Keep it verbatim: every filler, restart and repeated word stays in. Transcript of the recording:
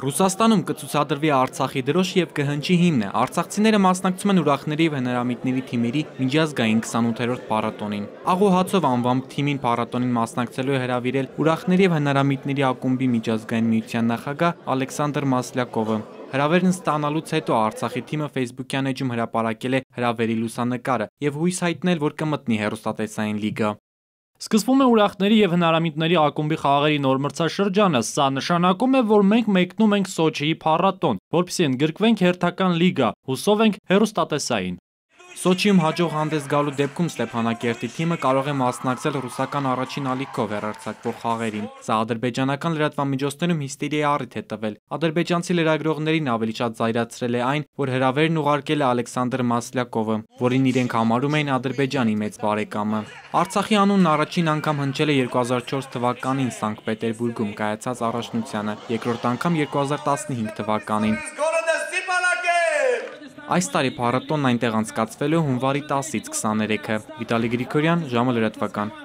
Ռուսաստանում կցուցադրվի Արցախի դրոշ և կհնչի հիմնը։ Արցախցիները մասնակցում են ուրախների և հնարամիտների թիմերի միջազգային քսանութերորդ փառատոնին։ Աղոհացով անվամբ թիմին փառատոնին մասնակցելու է հրավիրել ուրախների և հնարամիտների ակումբի միջազգային միության նախագահ Ալեքսանդր Մասլյակովը։ Հրավերն ստանալուց հետո Արցախի թիմը Facebook-յան էջում հրապարակել է հրավերի լուսանկարը և հույս հայտնել, որ կմտնի հեռուստատեսային լիգա։ Սկսվում է ուրախների և հնարամիտների ակումբի խաղերի նոր մրցաշրջանը։ Սա նշանակում է, որ մենք մեկնում ենք Սոչիի փառատոն, որպեսզի ընդգրկվենք հերթական լիգա, հուսով ենք հեռուստատեսային։ Սոչիում հաջող հանդես գալու դեպքում Ստեփանակերտի թիմը կարող է մասնակցել ռուսական առաջին ալիքով հեռարձակվող խաղերին։ Սա ադրբեջանական լրատվամիջոցներում հիստերիայի առիթ է տվել։ Ադրբեջանցի լրագրողներին ավելի շատ զայրացրել է այն, որ հրավերն ուղարկել է Ալեքսանդր Մասլյակովը, որին իրենք համարում էին Ադրբեջանի մեծ բարեկամը։ Արցախի անունն առաջին անգամ հնչել է երկու հազար չորս թվականին Սանկտ Պետերբուրգում կայացած առաջնությանը, երկրորդ անգամ երկու հազար տասնհինգ թվականին։ Այս տարի փառատոնն այնտեղ անցկացվելու է հունվարի տասից քսաներեքը։ Վիտալի Գրիգորյան, ժամը լրատվական։